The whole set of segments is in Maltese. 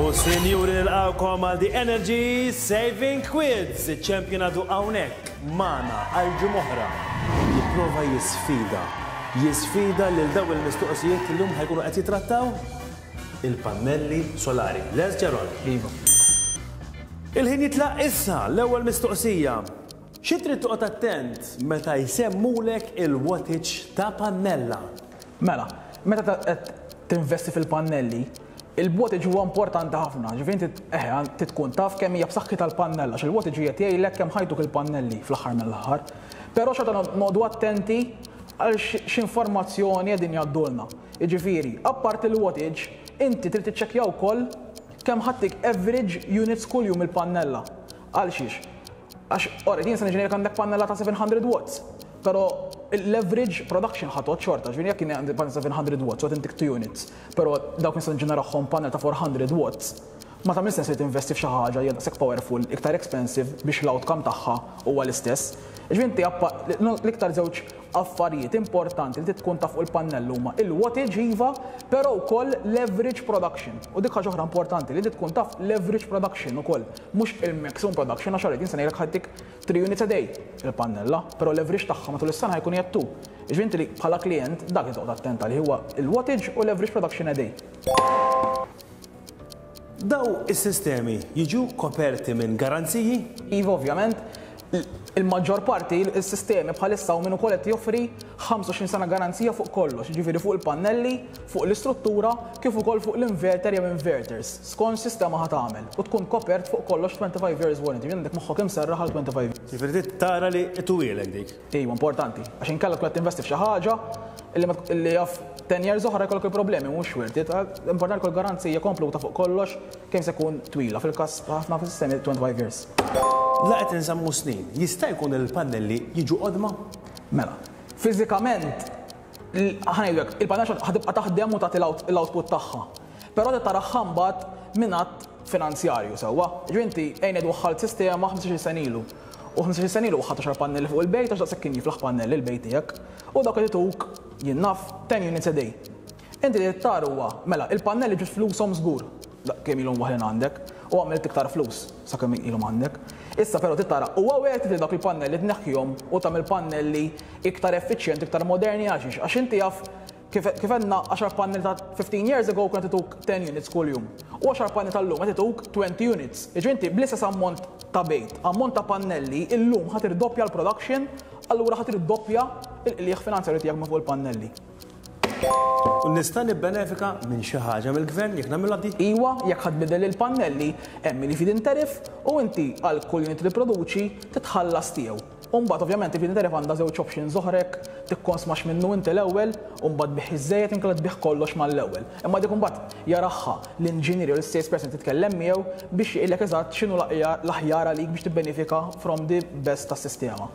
U sinjuri nilqgħukom għal The Energy Saving Quiz. Iċ-champion għadu hawnhekk magħna għal ġimgħa oħra. Jipprova jisfida. Jisfida lil dawn il-mistoqsijiet li llum ħa jkunu qed jitrattaw il-pannelli solari. Lest Gerald? Iva. Il-ħin jitlaq issa. L-ewwel mistoqsija. Xi trid toqgħod attent meta jsemmulek il-wattage ta' pannella? Mela, meta qed tinvesti fil-pannelli, il-wattage huwa importanti ħafna. Ġifieri inti eħe trid tkun taf kemm hija b'saħħitha l-pannella għax il-wattage qiegħed jgħidlek kemm ħa jtuk il-pannelli fl-aħħar mill-aħħar. Però xorta noqogħdu attenti għal x'informazzjoni qegħdin jgħaddulna. Jiġifieri, apparti l-wattage, inti trid tiċċekkja wkoll kemm ħa ttik average units kuljum il-pannella. Għalxiex? Għax, alright, jien se niġi ngħidlek għandek pannella ta' 700 watts, però l-average production ħa tgħodd xorta, ġifieri jekk jien għandi pannella 700 watts u qed intik 2 units, però dawk nista' niġġenerahom pannella ta' 400 watts, ma tagħmilx sens li tinvesti f'xi ħaġa li hija daqshekk powerful, iktar expensive biex l-outcome tagħha huwa l-istess. Ġifieri inti l-iktar żewġ affarijiet importanti li trid tkun taf fuq il-pannell huma il-wattage iva, però wkoll l-average production. U dik ħaġa oħra importanti li trid tkun taf l-average production ukoll. Mhux il-maximum production għax alright jien se ngħidlek ħa ttik 3 units a day il-pannella, però l-average tagħha matul is-sena ħa jkun qiegħed 2. Jiġifieri inti li bħala klijent dak li toqgħod attent għalih huwa l-wattage u l-average production a day. Daw is-sistemi jiġu koperti minn garanziji? Iva ovvjament. Il-maġġor parti is-sistemi bħalissa hawn min ukoll qed joffri 25 sena garanzija fuq kollox, jiġifieri fuq il-pannelli, fuq l-istruttura, kif ukoll fuq l-inverter jew inverters, skont x'sistema ħa tagħmel, u tkun kopert fuq kollox 25 years warranty, jiġifieri għandek moħħok imserraħ għal 25 years. Jiġifieri trid tara li ituwielek dik. Iva, importanti, għax inkella tkun qed tinvesti f'xi ħaġa illi jaf 10 years oħra jkollok il-problemi, mhux worth it. Importanti jkollok garanzija kompluta fuq kollox kemm se jkun twila, fil-każ ħafna sistemi 25 years. La qed insemmu snin, jista' jkun li l-pannelli jiġu qodma? Mela, fiżikament, ħa ngħidu hekk, il-pannella ħa tibqa' taħdem u tagħti l-output tagħha. Però trid taraha mbagħad minn att finanzjarju, sewwa? Jiġifieri inti ejja ngħidu waħħalt sistema 15-il sena ilu. U 15-il sena ilu waħħalt għaxar pannelli fuq il-bejt għax daqshekk kien jiflaħ pannelli l-bejt tiegħek. U dawk qed ituk, jien naf, 10 units a day. Inti li trid tara huwa, mela, il-pannelli ġibt flushom żgur, kemm ilhom waħlin għandek, u għamilt iktar flus sakemm ilhom għandek. Issa però trid tara, huwa worth it li dawk il-pannelli tneħħihom u tagħmel pannelli iktar effiċjenti, iktar moderni għalxiex? Għax inti jaf kif kif għedna għaxar pannelli ta' 15 years ago kienu qed ituk 10 units kuljum. U għaxar pannelli tal-lum qed ituk 20 units. Jiġifieri inti bl-istess ammont ta' bejt, ammont ta' pannelli, illum ħa tirdoppja l-production, allura ħa tirdoppja l-qligħ finanzjarju tiegħek minn fuq il-pannelli. U nista' nibbenefika minn xi ħaġa mill-Gvern jekk nagħmilha di? Iwa, jekk ħa tbiddel il-pannelli, hemm il-feed-in tariff u inti għal kull unit li tipproduċi titħallas tiegħu. U mbagħad ovvjament il-feed-in tariff għandha żewġ options oħra jekk tikkonsmax minnu inti l-ewwel u mbagħad tbigħ iż-żejjed inkella tbigħ kollox mal-ewwel. Imma dik imbagħad jaraha l-inġinier jew l-sales person li titkellem miegħu biex jgħidlek eżatt x'inhu l-aħjar għalik biex tibbenefika from the best tas-sistema.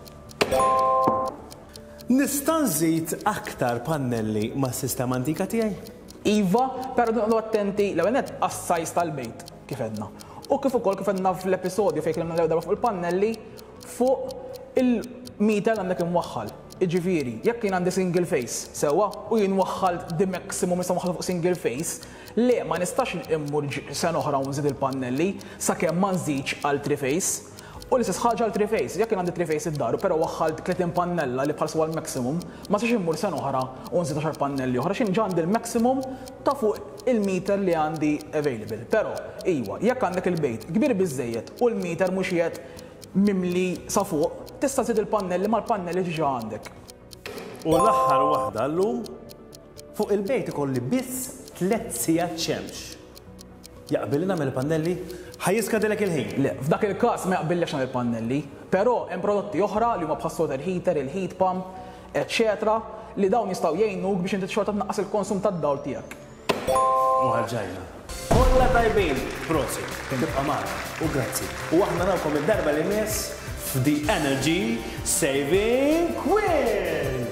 Nista' nżid aktar pannelli mas-sistema antika tiegħi? Iva, però noqogħdu attenti l-ewwel nett għas-size tal-bejt, kif għedna. U kif ukoll kif għedna fl-episodju fejn tkellimna l-ewwel darba fuq il-pannelli, fuq il-meter li għandek imwaħħal. Jiġifieri, jekk jien għandi single phase, sewwa, u jien waħħalt the maximum nista' nwaħħal fuq single phase, le ma nistax immur sena oħra u nżid il-pannelli sakemm ma nżidx għal three phase. U l-istess ħaġa għal three phase. Jekk jien għandi three phase id-dar però waħħalt 30 pannella li bħalissa huwa l-maximum, ma nistax immur sena oħra u nżid għaxar pannelli oħra għax jien ġa għandi l-maximum ta' fuq il-meter li għandi available. Però, iwa, jekk għandek il-bejt kbir biżżejjed u l-meter mhux qiegħed mimli sa fuq, tista' żżid il-pannelli mal-pannelli li ġa għandek. U l-aħħar waħda llum, fuq il-bejt ikolli biss tlett sigħat xemx. Jaqbilli nagħmel il-pannelli? Ħa jiskadilek il-ħin. Le, f'dak il-każ ma jaqbillekx nagħmel il-pannelli. Però hemm prodotti oħra li huma bħas-solar heater, il-heat pump, eċċetera li dawn jistgħu jgħinuk biex inti xorta tnaqqas il-konsum tad-dawl tiegħek. U ħarġajna. Kollha tajbin! Prosit. Tibqa' magħna. U grazzi. U aħna narawkom id-darba li jmiss f'The Energy Saving Quiz!